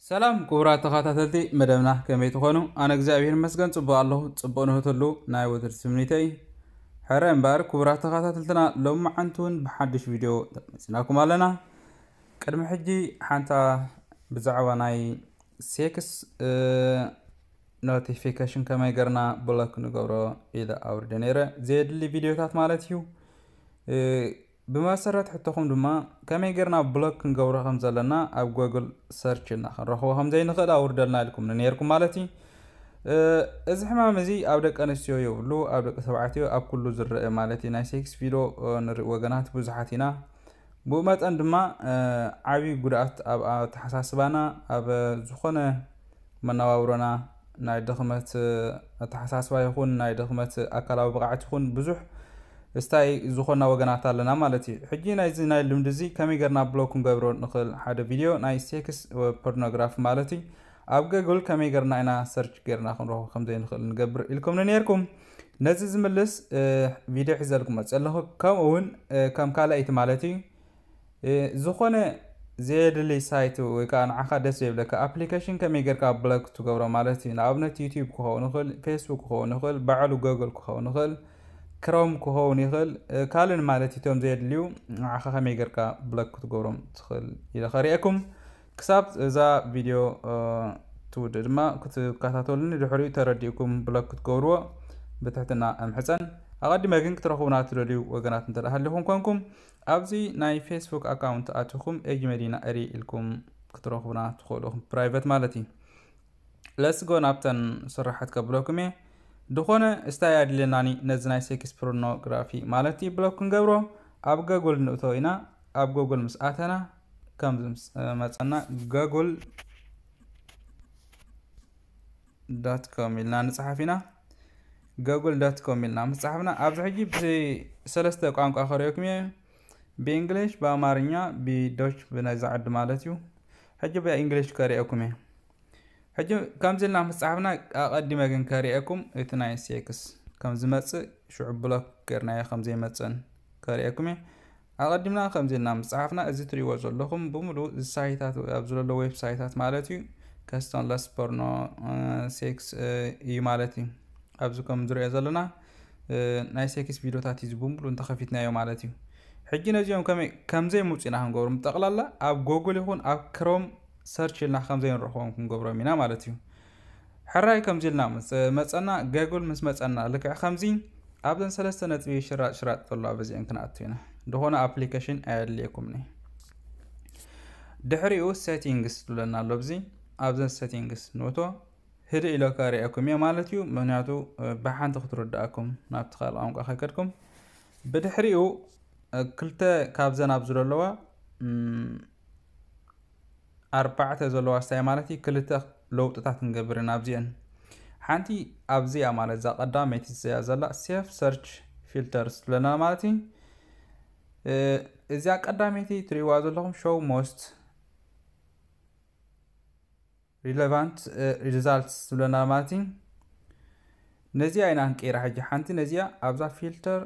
ሰላም ክቡራት ተኸታተልቲ መደብና፣ ከመይ ትኾኑ? ኣነ እግዚኣብሔር ይመስገን ጽቡቕ ኣለኹ። ጽቡቕ ንህትሉ ናይ ወትር ትምኒተይ። ሕረ እምበኣር ክቡራት ተኸታተልትና፣ ሎሚ መዓንቲ እውን ብሓድሽ ቪድዮ መጺናኩም ኣለና። ቅድሚ ሕጂ ሓንታ ብዛዕባ ናይ ሴክስ ኖቲፊኬሽን ከመይ ገርና ብሎክ ንገብሮ ኢለ ኣውርደ ነይረ፣ ዘየድሊ ቪድዮታት ማለት እዩ። ብመሰረት ሕቶኹም ድማ ከመይ ገርና ብሎክ ክንገብሮ ከም ዘለና ኣብ ጎግል ሰርች ኢልና ክንረኽቦ ከም ዘይንኽእል ኣውርደልና ኢልኩም ነይርኩም ማለት እዩ። እዚ ሕማም እዚ ኣብ ደቂ ኣንስትዮ የብሉ፣ ኣብ ደቂ ተባዕትዮ ኣብ ኩሉ ዝረአ ማለት እዩ። ናይ ሴክስ ቪድዮ ንርኢ ወገናት ብዙሓት ኢና። ብኡ መጠን ድማ ዓብዪ ጉድኣት ኣብ ኣተሓሳስባና፣ ኣብ ዝኾነ መነባብሮና ናይ ድኽመት ኣተሓሳስባ ይኹን ናይ ድኽመት ኣካላዊ ብቕዓት ይኹን ብዙሕ ስታይ ዝኾና ወገናት ኣለና ማለት እዩ። ሕጂ ናይዚ ናይ ልምዲ እዚ ከመይ ገርና ብሎክ ክንገብሮ ንኽእል ሓደ ቪድዮ ናይ ሴክስ ፖርኖግራፊ ማለት እዩ። ኣብ ገግል ከመይ ገርና ኢና ሰርች ገርና ክንረኽቦ ከም ዘይንኽእል ንገብር ኢልኩም ነይርኩም። ነዚ ዝምልስ ቪድዮ ሒዘልኩም መፅእ ኣለኹ። ከምኡ እውን ከም ካልኣይቲ ማለት እዩ፣ ዝኾነ ዘየድሊ ሳይት ወይ ከዓ ንዓኻ ደስ ዘይብለካ ኣፕሊኬሽን ከመይ ጌርካ ብሎክ ትገብሮ ማለት እዩ። ንኣብነት ዩቲዩብ ክኸውን ይኽእል፣ ፌስቡክ ክኸውን ይኽእል፣ ባዕሉ ጎግል ክኸውን ይኽእል፣ ክሮም ክኸውን ይኽእል፣ ካልእን ማለት እዩ። እቶም ዘየድልዩ ንዓኻ ከመይ ጌርካ ብሎክ ክትገብሮም ትኽእል ኢለ ከርእየኩም። ክሳብ እዛ ቪድዮ ትውድእ ድማ ክትከታተሉኒ፣ ድሕሪኡ ተረዲእኩም ብሎክ ክትገብርዎ ብትሕትና እምሕፀን። ኣቐዲመ ግን ክትረኽቡና ትደልዩ ወገናት እንተ ሃሊኹም ኮንኩም፣ ኣብዚ ናይ ፌስቡክ ኣካውንት ኣትኹም ኤጅ መዲና እሪ ኢልኩም ክትረኽቡና ትኽእሉ ኢኹም፣ ፕራይቨት ማለት እዩ። ለስጎ ናብተን ስራሓት ከብለኩም እየ። ድኾነ እስታይ ኣድልየናኒ ነዚ ናይ ሴክስ ፖርኖግራፊ ማለት እዩ ብሎክ ክንገብሮ። ኣብ ገጉል ንእቶ ኢና። ኣብ ገጉል ምስ ኣተና ከምዚ ምስ መፀና ገጉል ዳት ኮም ኢልና ንፅሓፍ ኢና። ገጉል ዳት ኮም ኢልና ምስ ፀሓፍና ኣብዚ ሕጂ ብሰለስተ ቋንቋ ከርእየኩም እየ። ብእንግሊሽ፣ ብኣማርኛ፣ ብዶች ብናይዛ ዓዲ ማለት እዩ። ሕጂ ብእንግሊሽ ከርእየኩም እየ። ሕጂ ከምዚ ኢልና ምስ ፀሓፍና ኣቐዲመ ግን ከርእየኩም እቲ ናይ ሴክስ ከም ዝመፅእ ሽዑ ብሎክ ገርናዮ ከም ዘይመፅእን ከርእየኩም እየ። ኣቐዲምና ከምዚ ኢልና ምስ ፀሓፍና እዚ ትሪእዎ ዘለኹም ብምሉእ እዚ ሳይታት ኣብ ዝለሎ ዌብሳይታት ማለት እዩ። ከስተንለስ ፖርኖ ሴክስ እዩ ማለት እዩ። ኣብዚ ከም ዝሪኦ ዘለና ናይ ሴክስ ቪዲዮታት እዩ ብምሉእ እንተኸፊትናዮ ማለት እዩ። ሕጂ ነዚኦም ከመይ ከም ዘይምፁ ኢና ክንገብሮም፣ ጠቕላላ ኣብ ጎግል ይኹን ኣብ ክሮም ሰርች ኢልና ከም ዘይንረኽቦም ክንገብሮም ኢና ማለት እዩ። ሕራይ ከምዚ ኢልና ምስ መፀና፣ ገጉል ምስ መፀና ልክዕ ከምዚ ኣብዘን ሰለስተ ነጥቢ ሽራጥ ሽራጥ ዘሎ በዚአን ክንኣቱ ኢና። ዝኾነ ኣፕሊኬሽን ኣየድልየኩምኒ። ድሕሪኡ ሴቲንግስ ትብለና ኣሎ። ኣብዚ ኣብዘን ሴቲንግስ ንእቶ። ህድእ ኢለ ከርእየኩም እየ ማለት እዩ። ምክንያቱ ብሓንቲ ክትርድኣኩም ናብቲ ካልእ ቋንቋ ከይከድኩም። ብድሕሪኡ ክልተ ካብዘን ኣብዚ ዘለዋ ኣርባዕተ ዘለዋ ስታይ ማለት እዩ። ክልተ ለውጥታት ክንገብር ኢና ኣብዚአን። ሓንቲ ኣብዚኣ ማለት እዛ ቀዳመይቲ እዚኣ ዘላ ሴፍ ሰርች ፊልተርስ ትብለና ማለት እዩ። እዚኣ ቀዳመይቲ ትርእይዋ ዘለኹም ሾው ሞስት ሪሌቫንት ሪዛልትስ ትብለና ማለት እዩ። ነዚኣ ኢና ክንቀይራ ሕጂ። ሓንቲ ነዚኣ ኣብዛ ፊልተር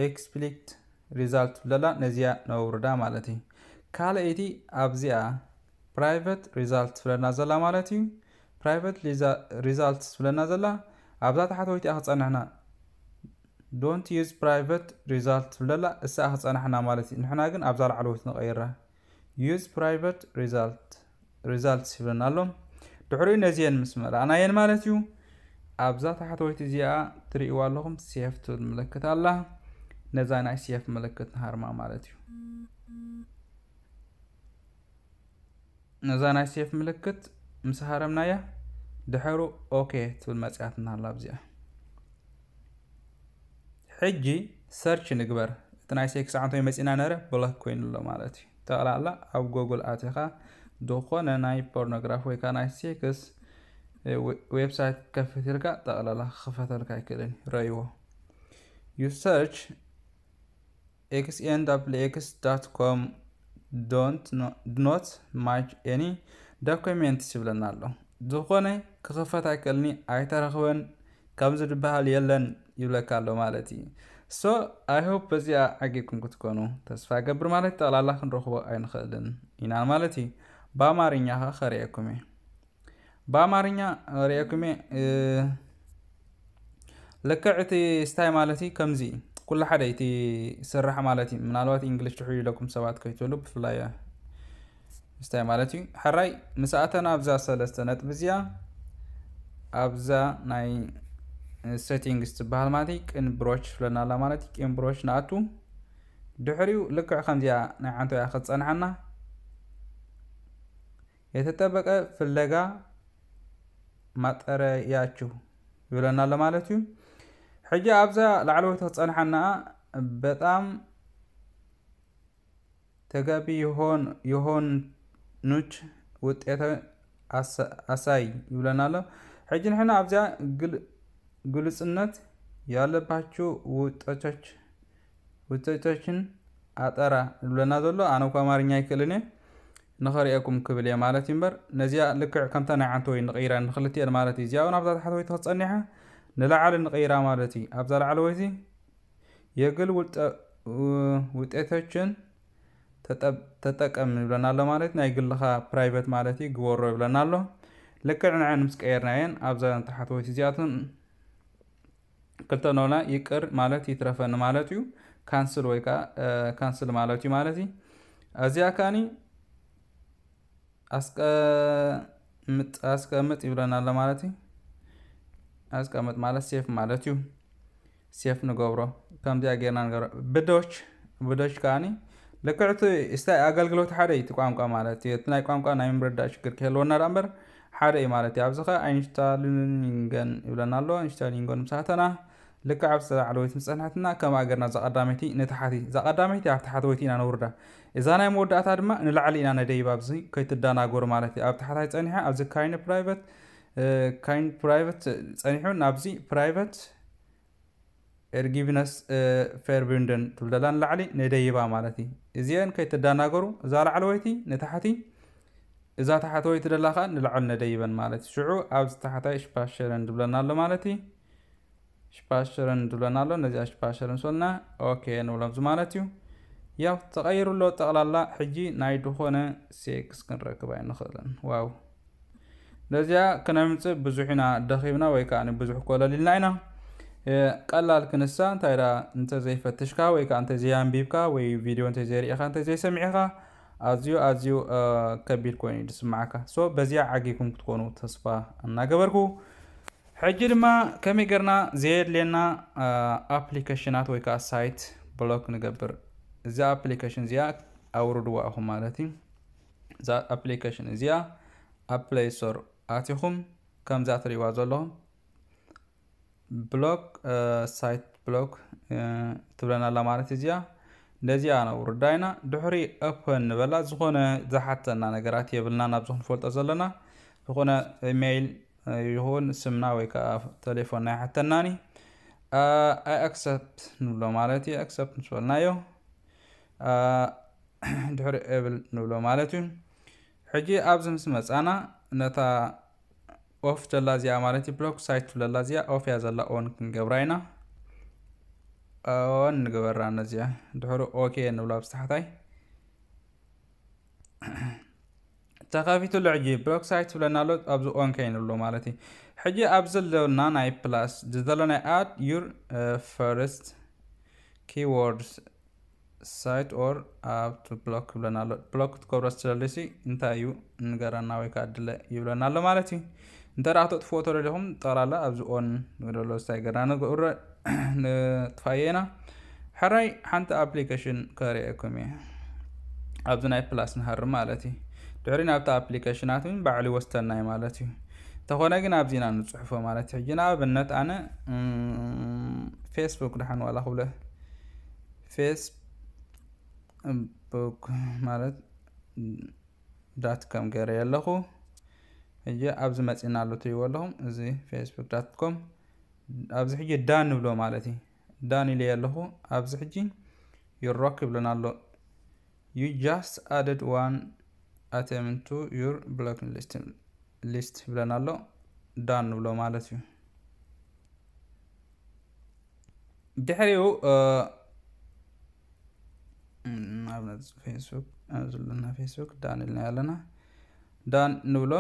ኤክስፕሊክት ሪዛልት ትብለላ፣ ነዚኣ ነውርዳ ማለት እዩ። ካልኣይቲ ኣብዚኣ ፕራይቨት ሪዛልት ትብለና ዘላ ማለት እዩ። ፕራይቨት ሪዛልት ትብለና ዘላ ኣብዛ ታሕተወይቲኣ ክፀንሕና ዶንት ዩዝ ፕራይቨት ሪዛልት ትብለላ፣ እሳ ክፀናሕና ማለት እዩ። ንሕና ግን ኣብዛ ላዕለወይቲ ንቐይራ። ዩዝ ፕራይቨት ሪዛልት ሪዛልትስ ይብለና ኣሎ። ድሕሪኡ ነዚአን ምስ መላእናየን ማለት እዩ። ኣብዛ ታሕተወይቲ እዚኣ ትርእይዋ ኣለኹም ሴፍ ትብል ምልክት ኣላ። ነዛ ናይ ሴፍ ምልክት ንሃርማ ማለት እዩ። ነዛ ናይ ሴፍ ምልክት ምስ ሃረምናያ ድሕሩ ኦኬ ትብል መፅያትና ኣላ ኣብዚኣ። ሕጂ ሰርች ንግበር። እቲ ናይ ሴክስ ዓንቶ መፂና ነረ ብሎክ ኮይኑ ኣሎ ማለት እዩ። ጠቕላላ ኣብ ጎግል ኣቲኻ ዝኾነ ናይ ፖርኖግራፊ ወይ ከዓ ናይ ሴክስ ዌብሳይት ከፍት ኢልካ ጠቕላላ ክኸፈተልካ ኣይክእልን። ረይዎ። You search X N W X dot com don't not match any documents ይብለና ኣሎ። ዝኾነ ክኸፈት ኣይክእልኒ፣ ኣይተረኽበን፣ ከምዚ ዝበሃል የለን ይብለካ ኣሎ ማለት እዩ። So I hope በዚኣ ዓጊብኩም ክትኮኑ ተስፋ ገብር ማለት ጠቕላላ ክንረኽቦ ኣይንኽእልን ኢና ማለት እዩ። ብኣማርኛ ኸ ከርእየኩም እየ። ብኣማርኛ ርእየኩም እየ። ልክዕ እቲ ስታይ ማለት እዩ ከምዚ እዩ። ኩሉ ሓደ እቲ ስራሕ ማለት እዩ። ምናልባት እንግሊሽ ትሕሉ ኢለኩም ሰባት ከይትብሉ ብፍላይ ስታይ ማለት እዩ። ሕራይ ምስ ኣተና ኣብዛ ሰለስተ ነጥቢ እዚኣ ኣብዛ ናይ ሴቲንግስ ትበሃል ማለት እዩ። ቅን ብሮች ትብለና ኣላ ማለት እዩ። ቅን ብሮች ንኣቱ ድሕሪኡ ልክዕ ከምዚኣ ናይ ዓንተያ ክትጸንሓና የተጠበቀ ፍለጋ ማጠረያችሁ ይብለና ኣሎ ማለት እዩ። ሕጂ ኣብዛ ላዕለወይቲ ክትጸንሓና በጣም ተገቢ የሆኑች ውጤተ ኣሳይ ይብለና ኣሎ። ሕጂ ንሕና ኣብዚኣ ግልጽነት ያለባችሁ ውጤቶች ውጤቶችን ኣጠራ ይብለና ዘሎ። ኣነ እኳ ኣማርኛ ኣይክእልን እየ፣ ንኸርእየኩም ክብል እየ ማለት እዩ። እምበር ነዚኣ ልክዕ ከምታ ናይ ዓንተወይ ንቕይራ ንኽልቲኤን ማለት እዩ። እዚኣ እውን ኣብዛ ታሕተወይቲ ክትጸኒሓ ንላዕሊ ንቕይራ ማለት እዩ። ኣብዛ ላዕለወይቲ የግል ውልጠ ውጤቶችን ተጠብ- ተጠቀም ይብለና ኣሎ ማለት ናይ ግልኻ ፕራይቬት ማለት እዩ። ግበሮ ይብለና ኣሎ። ልክዕ ንዐን ምስ ቀየርናየን ኣብዛ ታሕተወይቲ እዚኣትን ክልተ ኖላ ይቅር ማለት ይትረፈኒ ማለት እዩ። ካንስል ወይ ከዓ ካንስል ማለት እዩ ማለት እዩ። እዚኣ ካኒ ኣስቀምጥ ኣስቀምጥ ይብለና ኣሎ ማለት እዩ። ኣስቀምጥ ማለት ሴፍ ማለት እዩ። ሴፍ ንገብሮ። ከምዚኣ ጌርና ንገብሮ። ብዶች ብዶች ከዓኒ ልክዕቲ ስታይ ኣገልግሎት ሓደ እዩ። እቲ ቋንቋ ማለት እዩ። እቲ ናይ ቋንቋ ናይ ምርዳእ ሽግር ክህልወና ደኣ እምበር ሓደ እዩ ማለት እዩ። ኣብዚ ኸ ኣይንሽታሊንገን ይብለና ኣሎ። ኣይንሽታሊንገን ምሳተና ልክዕ ኣብ ላዕለወይቲ ምጸንሐትና ከም ኣገርና እዛ ቀዳመይቲ ንታሕቲ እዛ ቀዳመይቲ ኣብ ታሕተወይቲ ኢና ነውርዳ። እዛ ናይ መወዳእታ ድማ ንላዕሊ ኢና ነደይባ። ኣብዚ ከይትደናገሩ ማለት እዩ። ኣብ ታሕታይ ጸኒሐ ኣብዚ ካይን ፕራይቨት ካይን ፕራይቨት ጸኒሑ ናብዚ ፕራይቨት ኤርጊቪነስ ፌርቢንደን ትብለላ ንላዕሊ ነደይባ ማለት እዩ። እዚአን ከይትደናገሩ እዛ ላዕለወይቲ ንታሕቲ እዛ ታሕተወይቲ ደላ ከዓ ንላዕሊ ነደይበን ማለት እዩ። ሽዑ ኣብዚ ታሕታይ ሽፓሸረን ድብለና ኣሎ ማለት እዩ። ሽፓሸረን ድብለና ኣሎ። ነዚኣ ሽፓሸረን ሶልና ኦኬ ንብሎም ማለት እዩ። ያው ተቐይሩ ኣሎ ጠቕላላ። ሕጂ ናይ ድኾነ ሴክስ ክንረክብ ኣይንኽእልን። ዋው ነዚኣ ክነምፅእ ብዙሕ ኢና ደኺብና ወይ ከዓ ብዙሕ ኮለል ኢልና ኢና። ቀላል ክንሳ እንታይ ዳ እንተዘይፈትሽካ ወይ ከዓ እንተዘይኣንቢብካ ወይ ቪድዮ እንተዘይርኢኻ እንተዘይሰሚዕኻ ኣዝዩ ኣዝዩ ከቢድ ኮይኑ እዩ ዝስማዓካ። ሶ በዚኣ ዓጊኩም ክትኮኑ ተስፋ እናገበርኩ ሕጂ ድማ ከመይ ገርና ዘየድልየና ኣፕሊኬሽናት ወይ ከዓ ሳይት ብሎክ ንገብር። እዛ ኣፕሊኬሽን እዚኣ ኣውርድዋ ኢኹም ማለት እዩ። እዛ ኣፕሊኬሽን እዚኣ ኣብ ፕሌይ ስቶር ኣቲኹም ከምዛ ትሪእዋ ዘለኹም ብሎክ ሳይት ብሎክ ትብለና ኣላ ማለት እዚኣ። ነዚኣ ነውርዳ ኢና። ድሕሪ ኦፐን ንበላ። ዝኾነ ዝሓተና ነገራት የብልና ናብዚ ክንፈልጦ ዘለና። ዝኾነ ኢሜይል ይኹን ስምና ወይ ከዓ ቴሌፎንና ኣይሓተናኒ። ኣይ ኣክሰፕት ንብሎ ማለት እዩ። ኣክሰፕት ምስ በልናዮ ድሕሪ ኤብል ንብሎ ማለት እዩ። ሕጂ ኣብዚ ምስ መፃና ነታ ኦፍ ዘላ እዚኣ ማለት እዩ ብሎክ ሳይት ትብለላ እዚኣ ኦፍ እያ ዘላ ኦን ክንገብራ ኢና። ኦን ንግበራ ነዚኣ ድሕሪ ኦኬ ንብላ ኣብዚ ታሕታይ ተኸፊቱ ኣሎ። ሕጂ ብሎክ ሳይት ትብለና ኣሎ ኣብዚ ኦን ከይንብሎ ማለት እዩ። ሕጂ ኣብዚ ዘለና ናይ ፕላስ ዘሎ ናይ ኣድ ዩር ፈርስት ኪወርድስ ሳይት ኦር ኣብ ቱ ብሎክ ይብለና ኣሎ። ብሎክ ክትገብሮ ስለልሲ እንታይ እዩ ንገረና ወይ ከዓ ድለ ይብለና ኣሎ ማለት እዩ። እንተ ደኣ ክተጥፍዎ ተደሊኹም ጠቕላላ ኣብዚ ኦን ንግደሎ ስታይ ገርና ንግብረ ንጥፋየ ኢና። ሕራይ ሓንቲ ኣፕሊኬሽን ከርእየኩም እየ። ኣብዚ ናይ ፕላስ ንሃርም ማለት እዩ። ድሕሪ ናብቲ ኣፕሊኬሽናት እውን ባዕሉ ይወስደናይ ማለት እዩ። እንተኾነ ግን ኣብዚ ኢና ንፅሕፎ ማለት እዩ። ሕጂ ንኣብነት ኣነ ፌስቡክ ድሓን ዋላ ክብለ ፌስቡክ ማለት ዳት ከም ገይረ ኣለኹ። ሕጂ ኣብዚ መፂና ኣሎ ትሪእዎ ኣለኹም። እዚ ፌስቡክ ዳት ኮም ኣብዚ ሕጂ ዳን ንብሎ ማለት እዩ። ዳን ኢለ ኣለኹ። ኣብዚ ሕጂ ይሮክ ይብለና ኣሎ። You just added one item to your block list ይብለና ኣሎ። ዳን ንብሎ ማለት እዩ። ድሕሪኡ ኣብነት ፌስቡክ ዘለና ፌስቡክ ዳን ኢልና ኣለና። ዳን ንብሎ።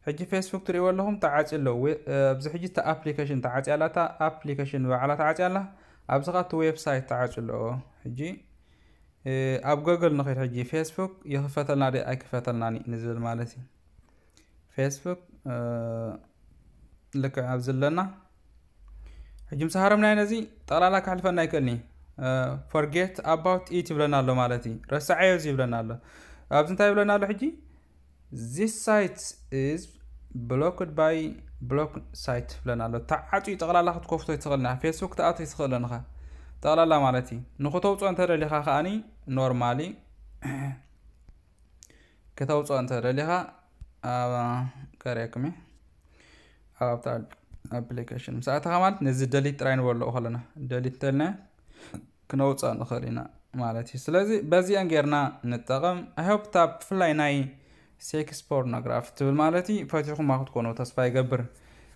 ሕጂ ፌስቡክ ትሪእዎ ኣለኹም ተዓፅዩ ኣሎ። ኣብዚ ሕጂ እታ ኣፕሊኬሽን ተዓፅያ ኣላ፣ እታ ኣፕሊኬሽን ባዕላ ተዓፅያ ኣላ። ኣብዚ ኸዓ እቲ ዌብሳይት ተዓፅዩ ኣሎ። ሕጂ ኣብ ጎግል ንኸይድ። ሕጂ ፌስቡክ ይኽፈተልና ዶ ኣይክፈተልናን እዩ ንዝብል ማለት እዩ። ፌስቡክ ልክዕ ኣብዚ ኣለና። ሕጂ ምስ ሃረምናዮ ነዚ ጠቕላላ ከሕልፈና ኣይክእልን እዩ። Forget about it ይብለና ኣሎ ማለት እዩ። ረሳዓዮ እዚ ይብለና ኣሎ። ኣብዚ እንታይ ይብለና ኣሎ ሕጂ? This site is blocked by block site ይብለና ኣሎ። ተዓፅዩ ጠቕላላ ክትከፍቶ ኣይትኽእልን ኢኻ። ፌስቡክ ትኣቱ ኣይትኽእልን ኢኻ ጠቕላላ ማለት እዩ። ንክተውፅኦ እንተደሊኻ ከዓኒ ኖርማሊ ክተውፅኦ እንተደሊኻ ከርእየኩም እየ። ኣብታ ኣፕሊኬሽን ምስ ኣተኻ ማለት ነዚ ደሊት ጥራይ ንበልኦ ከለና ደሊት እንተልና ክነውፅኦ ንኽእል ኢና ማለት እዩ። ስለዚ በዚአን ጌርና ንጠቐም። I hope እታ ብፍላይ ናይ ሴክስ ፖርኖግራፊ ትብል ማለት እዩ ፈቲኹማ ክትኮኑ ተስፋ ይገብር።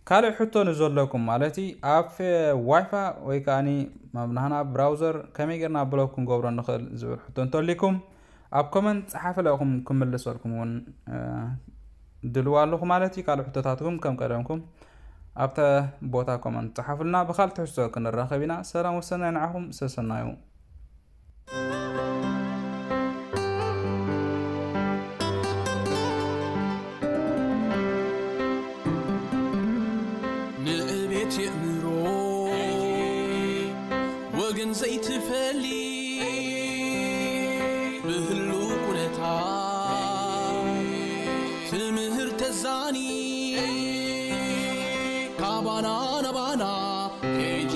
ካልእ ሕቶ ንዘለኩም ማለት እዩ ኣብ ዋይፋ ወይ ከዓኒ መብናህና ብራውዘር ከመይ ጌርና ብሎክ ክንገብሮ ንኽእል ዝብል ሕቶ እንተልይኩም ኣብ ኮመንት ጸሓፍለኹም ክምልሰልኩም እውን ድልዋ ኣለኹ ማለት እዩ። ካልእ ሕቶታትኩም ከም ቀደምኩም ኣብተ ቦታ ኮመንት ጸሓፉልና። ብኻልእ ትሕዝቶ ክንራኸብ ኢና። ሰላም ወሰናይ ንዓኹም ሰሰናዩ። ንእቤት የእምሮ ወገን ዘይትፈሊ ብህሉ ኩነታ ትምህር ተዛኒ ካባና ናባና ሄጂ